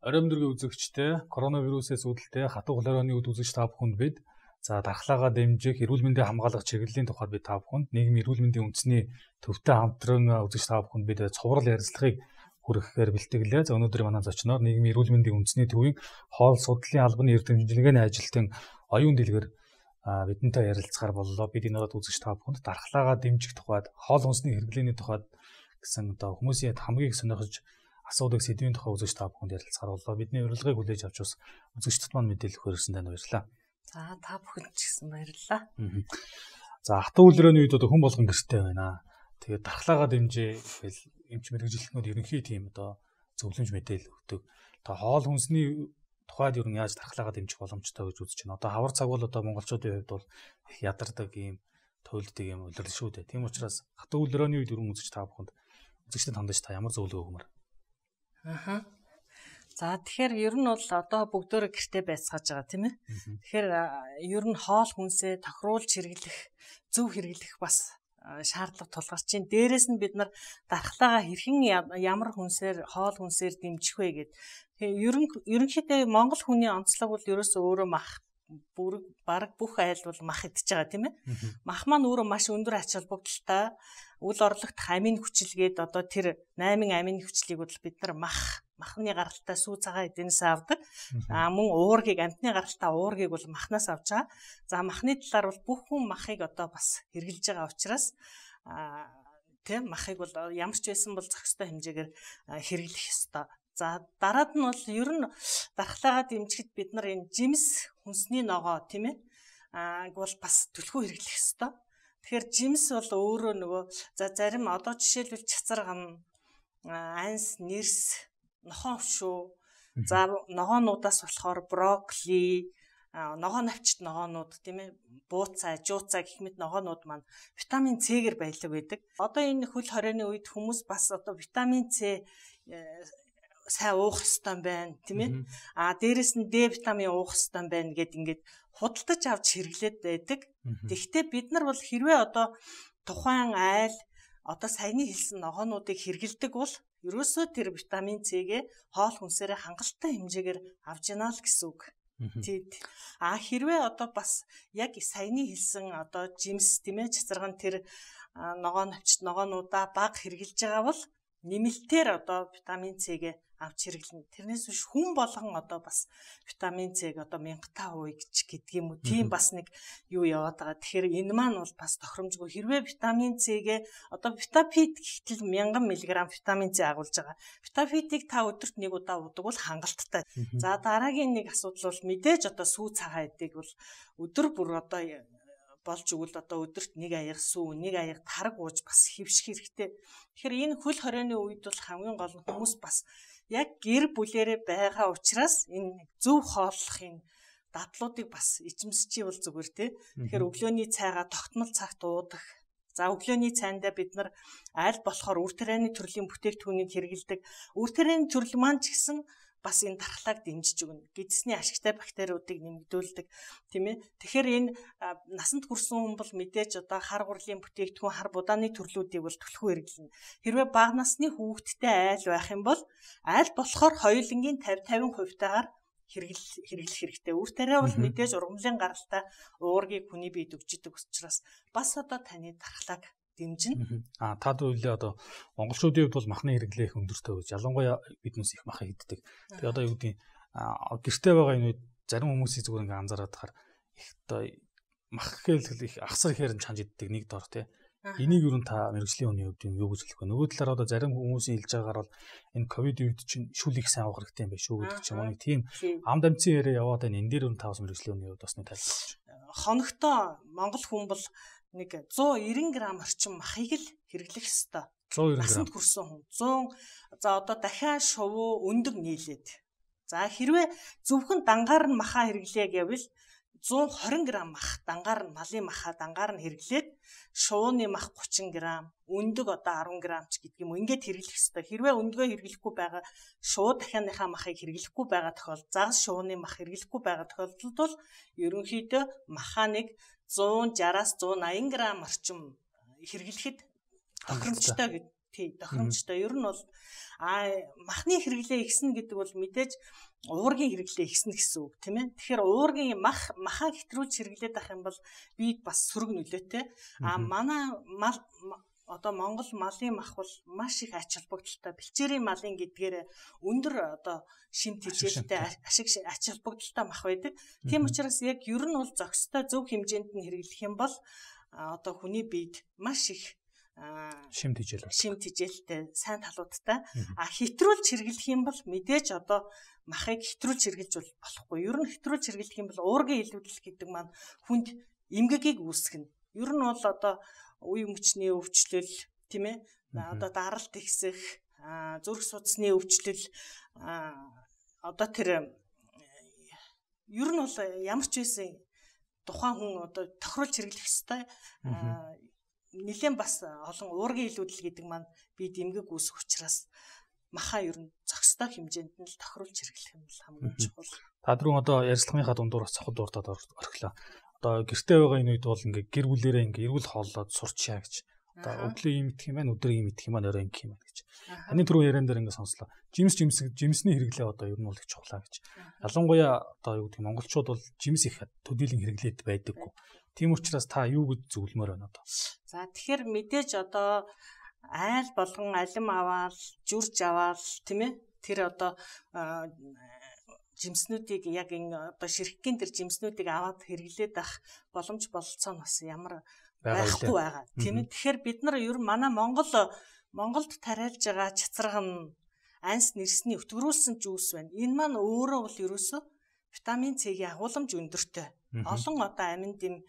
Оройн өдрийн үзэгчтэй, коронавирусээс үүдэлтэй хатуу хулгайрны үд үзэгч та бүхэнд бид дархлаагаа дэмжих, эрүүл мэндийг хамгаалах чиглэлийн тухайд бид та бүхэнд нийгмийн эрүүл мэндийн үндэсний төвтэй хамтран үзэгч та бүхэнд бид цуврал ярилцлагыг хүргэхээр бэлтгэлээ. За өнөөдөр манай зочноор нийгмийн эрүүл мэндийн үндэсний төвийн хоол судлалын албаны эрдэмтдийн ажилтан оюун дэлгэр бидэнтэй ярилцахаар боллоо. Бид энэ удаад үзэгч та бүхэнд дархлаагаа дэмжих тухайд, хоол хүнсний хэрэглээний тухайд гэсэн хүмүүсийн хамгийн их сонирхож асуудаг сэдвийн тухай үзэгч та бүхэнд ярилцахаар боллоо. Бидний урилгыг хүлээж авч бас үзэгчдэд маань мэдээлэл өгөхөөрсөн танд баярлалаа. За та бүхэнд ч гэсэн баярлалаа. За хатуу хулгайрны үед хүн болгон гэртэй байна. Тэгээд дархлаагаа дэмжээ гэхэл эмч мэргэжилтнүүд ерөнхий тийм зөвлөмж мэдээлэл өгдөг. Хоол хүнсний тухайд ер нь яаж дархлаагаа дэмжих боломжтой гэж үзэж байна. Хавар цаг бол монголчуудын хувьд бол их ядардаг юм, туйлддаг юм улирал шүү дээ. Тийм учраас хатуу хулгайрны үед ерөн үзэж та бүхэнд үзэгчдэд хандаж та ямар зөвлөгөө өгмөр? За тэгэхээр ер нь бол бүгдөө гэртээ байцгааж байгаа тийм ээ. Тэгэхээр ер нь хоол хүнсээ тохируулж хэрэглэх, зөв хэрэглэх бас шаардлага тулгарч байна. Дээрээс нь бид нар дархлаагаа хэрхэн ямар хүнсээр, хоол хүнсээр дэмжих вэ гэдэг. Ерөнхийдөө Монгол хүний онцлог бол ерөөсөө өөрөө мах бараг бүх айл бол мах идж байгаа тийм ээ. Мах маань өөрөө маш өндөр ач холбогдолтой үл орлогт амин хүчилгээд тэр 8 амин хүчлийг бол бид нар махны гаралтай сүү цагаан эднээс авдаг. Мөн уургийг амтны гаралтай уургийг бол махнаас авч байгаа. За махны талаар бол бүх хүн махыг бас хэрглэж байгаа учраас тийм махыг бол ямар ч байсан бол зохистой хэмжээгээр хэрэглэх ёстой. За дараад нь бол ер нь дархлаагаа дэмжихэд бид нар энэ жимс хүнсний ногоо тийм ээ бол бас түлхүү хэрэглэх ёстой. Тэгэхээр жимс бол өөрөө нөгөө зарим жишээлбэл цацарган, анс, нэрс, нохоо өвшөө, за ногоонуудаас болохоор брокколи, ногоо навчт ногоонууд тийм ээ, бууцаа, жууцаа гэх мэт ногоонууд маань витамин С-гээр баялаг байдаг. Энэ хөл хорионы үед хүмүүс бас витамин С сайн уух ёстой байна тийм ээ. Дээрэс нь Д витамин уух ёстой байна гэд ингээд худалдаж авч хэрэглээд байдаг. Тэгэхдээ бид нар бол хэрвээ тухайн айл саяны хэлсэн ногоонуудыг хэрэглэдэг бол ерөөсөө тэр витамин С-гээ хоол хүнсээрээ хангалттай хэмжээгээр авч яана л гэсэн үг. Хэрвээ бас яг саяны хэлсэн жимс тийм ээ, цацарган тэр ногоо навчт ногоонуудаа бага хэрэглэж байгаа бол нэмэлтээр витамин С-гээ авч хэрэглэнэ. Тэрнээс биш хүн болгон бас витамин С-г 1000% гэдэг юм уу. Тийм бас нэг юу яваад байгаа. Тэгэхээр энэ маань бол бас тохиромжгүй. Хэрвээ витамин С-г витапит гэхтэл 1000 мг витамин С агуулж байгаа. Витапитийг та өдөрт нэг удаа уудаг бол хангалттай. За дараагийн нэг асуудал бол мэдээж сүү цагаан эдэг бол өдөр бүр болж өгвөл өдөрт нэг аяга сүү, нэг аяга тараг ууж бас хэвших хэрэгтэй. Тэгэхээр энэ хөл хорионы үед бол хамгийн гол нь хүмүүс бас яг гэр бүлээрээ байгаа учраас энэ зөв хооллох энэ дадлуудыг бас эзэмсчий бол зүгээр тий. Тэгэхээр өглөөний цайгаа тогтмол цагт уудаг. За өглөөний цайндаа бид нар аль болохоор үр тарианы төрлийн бүтээгдэхүүнийг хэрэглэдэг. Үр тарианы төрөл маань ч гэсэн бас энэ дархлааг дэмжиж өгнө. Гидсний ашигтай бактериудыг нэмэгдүүлдэг, тийм ээ. Тэгэхээр энэ насанд хүрсэн хүн бол мэдээж хар гурлын бүтээгдэхүүн, хар будааны төрлүүдийг бол түлхүү хэрэглэнэ. Хэрвээ бага насны хүүхэдтэй айл байх юм бол аль болохоор хоёулангийн 50% таагаар хэрэглэх хэрэгтэй. Үр тариа бол мэдээж ургамлын гаралтай уургийг хүний биед өгчдөг учраас бас таны дархлааг дэмжин. Таад үйлээ монголчуудын хувьд бол махны хэрэглээ их өндөртэй гэж. Ялангуяа биднээс их мах иддэг. Тэгээ юу гэдэг гэртээ байгаа энэ үед зарим хүмүүсийн зүгээр ингээ анзаараад тахаар их мах гэхэл их ахсар ихээр нь чанж иддэг нэг дор тий. Энийг юу та мэргэжлийн хүний хувьд юу гэж хэлэх вэ? Нөгөө талаар зарим хүмүүсийн хэлж байгаагаар бол энэ ковид үед чинь шүл их сайн авах хэрэгтэй юм байна шүү гэдэг ч юм уу. Тийм амд амцын яриа яваад байна. Энэ дээр юу та бас мэргэжлийн хүний хувьд бас нэг тайлбарлаж. Хоногтоо монгол хүн бол нэг 190 г орчим махыг л хэрэглэх ёстой. 190 г. Насанд хүрсэн хүн 100 дахиад шувуу өндөг нийлээд. За хэрвээ зөвхөн дангаар нь махаа хэрэглэе гэвэл 120 г мах дангаар нь малын махаа дангаар нь хэрэглээд шувууны мах 30 г, өндөг 10 г ч гэдэг юм. Ингээд хэрэглэх ёстой. Хэрвээ өндгөө хэрэглэхгүй байгаа шувуу дахианыхаа махыг хэрэглэхгүй байгаа тохиолдолд, загас шувууны мах хэрэглэхгүй байгаа тохиолдолд бол ерөнхийдөө махаа нэг 160-180 г орчим хэрэглэхэд тохиромжтой гэдэг. тий тохиромжтой. Ер нь бол махны хэрэглээ ихснэ гэдэг бол мэдээж уургийн хэрэглээ ихснэ гэсэн үг тийм ээ. Тэгэхээр уургийн махаа хэтрүүлж хэрэглээд авах юм бол бид бас сөрөг нөлөөтэй. Манай мал одоо Монгол малын мах бол маш их ач холбогдолтой. Бэлчээрийн малын гэдгээр өндөр одоо шимт хичээлтэй ашиг ач холбогдолтой мах байдаг. Тийм учраас яг ер нь бол зохистой зөв хэмжээнд нь хэрэглэх юм бол одоо хүний биед маш их шимт хичээлтэй сайн талуудтай. Хэтрүүлж хэрэглэх юм бол мэдээж одоо махыг хэтрүүлж хэрэглэж болохгүй. Ер нь хэтрүүлж хэрэглэх юм бол уургийн илүүдэл гэдэг маань хүнд эмгэгийг үүсгэнэ. Ер нь бол одоо үе мөчний өвчлөл тийм ээ одоо даралт ихсэх зүрх судасны өвчлөл одоо тэр ер нь бол ямар ч байсан тухайн хүн одоо тохируулж хэрэглэх ёстой нэлээд бас олон уургийн илүүдэл гэдэг маань бид эмгэг үүсэх учраас махаа ер нь зохистой хэмжээнд нь л тохируулж хэрэглэх юм бол хамгийн чухал. Та түрүүн одоо ярилцлагынхаа дундуур цохол дуртад орхилоо. Одоо гэртээ байгаа энэ үед бол ингээ гэр бүлээрээ ингээ эрүүл хооллоод сурчаа гэж. Одоо өглөө юм идэх юм байна, өдөр юм идэх юм байна, орой ингэх юм байна гэж. Таны түрүү яриан дээр ингээ сонслоо. Жимсний хэрэглээ одоо ер нь бол их чухлаа гэж. Ялангуяа одоо юу гэдэг монголчууд бол жимс их төдийлөн хэрэглээд байдаггүй. Тийм учраас та юу гэж зөвлөмөр байна одоо? За тэгэхээр мэдээж одоо айл болгон алим аваад, жүрж аваад тийм ээ тэр одоо жимснүүдийг яг энэ одоо ширхгийн тэр жимснүүдийг аваад хэрэглээд ах боломж бололцоо нь бас ямар байхгүй байгаа. Тийм ээ. Тэгэхээр бид нар ер нь манай Монголд тариалж байгаа чацраг нь анс нэрсний өтгөрүүлсэн жүүс байна. Энэ маань өөрөө бол ерөөсөө витамин С-ийн агуулмж өндөртэй. Олон одоо амин дэм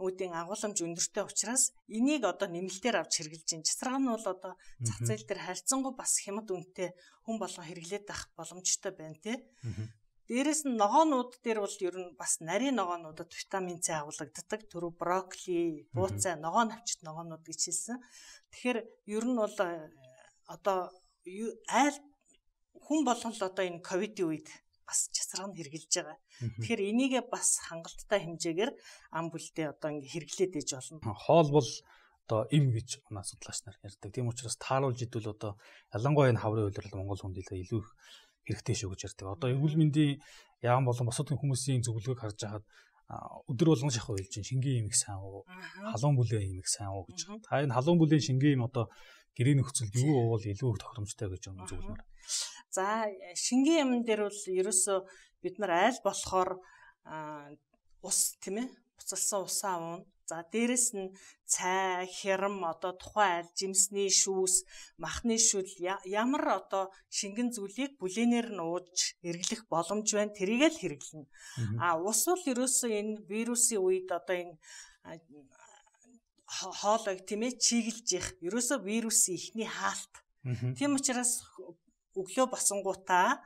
үүдийн агуулмж өндөртэй учраас энийг одоо нэмэлтээр авч хэрэглэж байна. Чацраг нь бол одоо зах зээл дээр харьцангуй бас хямд үнэтэй хүн болгон хэрэглээд ах боломжтой байна тий. Дээрээс нь ногоонууд дээр бол ер нь бас нарийн ногоонуудад витамин С агуулгаддаг. Түрүү брокколи, бууцай, ногоон навчит ногоонууд гэж хэлсэн. Тэгэхээр ер нь бол одоо айл хүн болгон л одоо энэ ковидын үед бас чацраг нь хэрэгжилж байгаа. Тэгэхээр энийгээ бас хангалттай хэмжээгээр ам бүлдээ одоо ингэ хэрэглээд ээж болно. Хоол бол одоо им гэж манай судлаач нар ярьдаг. Тийм учраас тааруулж идвэл одоо ялангуяа энэ хаврын үйлрэл Монгол хүнд илүү их хэрэгтэй шүү гэж ярьдаг. Одоо эрүүл мэндийн яам болон бусад хүмүүсийн зөвлөгөөг харж байхад өдөр болгон шахуу хэлж чинь шингийн имийг сайн уу, халуун бүлээн имийг сайн уу гэж. Та энэ халуун бүлээн шингийн им одоо гэрийн нөхцөлд юу уувал илүү тохиромжтой гэж зөвлөмөр. За шингийн юм дээр бол ерөөсөө бид нар айл болохоор ус тийм ээ буцалсан усаа уун. За дээрэс нь цай, хэрэм одоо тухайн айл жимсний шүүс, махны шүл ямар одоо шингэн зүйлийг бүлээнээр нь ууж эргэлэх боломж байна. Тэрийг л хэрэглэнэ. Ус бол ерөөсөө энэ вирусын үед одоо энэ хоолойг тийм ээ чиглэж их. Ерөөсөө вирусын ихний хаалт. Тийм учраас өглөө босонгуудаа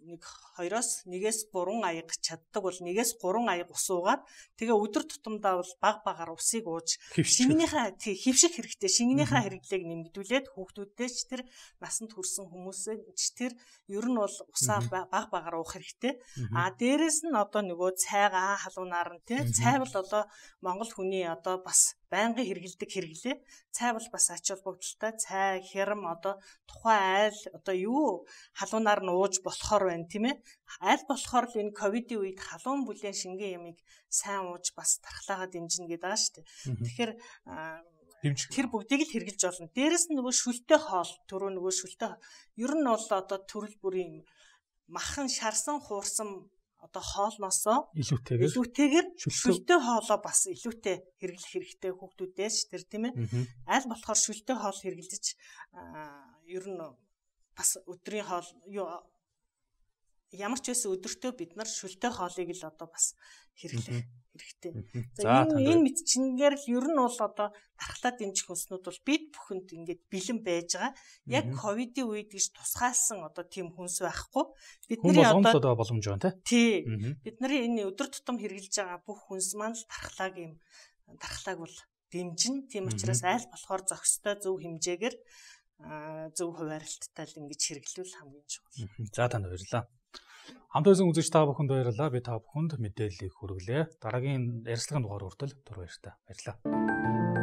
1-2-3 аяг чаддаг бол 1-3 аяг ус уугаад тэгээ өдөр тутамдаа бол баг усыг ууж шингэнийхээ хөвших хэрэгтэй. Шингэнийхээ хэрэглээг нэмэгдүүлээд хүүхдүүдтэй ч тэр насанд хүрсэн хүмүүсээ ч тэр ер нь бол усаа баг уух хэрэгтэй. Дээрэс нь одоо нөгөө цайгаа халуунаар нь тий цай бол одоо монгол хүний одоо бас байнгын хэрэгэлдэг хэрэглээ. Цай бол бас ач холбогдолтой. Цай, хэрэм одоо тухайн айл одоо юу халуунаар нь ууж болохоор байна тийм ээ. Айл болохоор л энэ ковидын үед халуун бүлээн шингэн ямыг сайн ууж бас тархлаагаа дэмжинэ гэдэг байгаа шүү дээ. Тэгэхээр тэр бүгдийг л хэрэгжилж болно. Дээрэс нь нөгөө шүлтэй хоол, түрүү нөгөө шүлтэй ер нь бол одоо төрөл бүрийн махан шарсан хуурсан одоо хоолноосоо илүүтэйгээр шүлтэй хоолоо бас илүүтэй хэрэглэх хэрэгтэй хүүхдүүдээс тэр тийм ээ. Аль болохоор шүлтэй хоол хэрэглэж ер нь бас өдрийн хоол ямар ч байсан өдөртөө бид нар шүлтэй хоолыг л одоо бас хэрэглэх хэрэгтэй. За энэ мэдчингээр л ер нь бол одоо тархлаа дэмжих хүнснүүд бол бид бүхэнд ингээд бэлэн байж байгаа. Яг ковидын үед гэж тусгаалсан одоо тийм хүнс байхгүй. Бидний одоо боломж байна тий. Бидний энэ өдөр тутам хэрэгжилж байгаа бүх хүнс маань л тархлааг бол дэмжин. Тийм учраас айл болохоор зохистой зөв хэмжээгээр зөв хуваарлттай л ингэж хэрэглүүл хамгийн чухал. За танд баярлалаа. Хамт байсан үзэгч та бүхэнд баярлалаа. Би та бүхэнд мэдээллийг хүргэлээ. Дараагийн ярилцлагын дугаар хүртэл түр баярлалаа.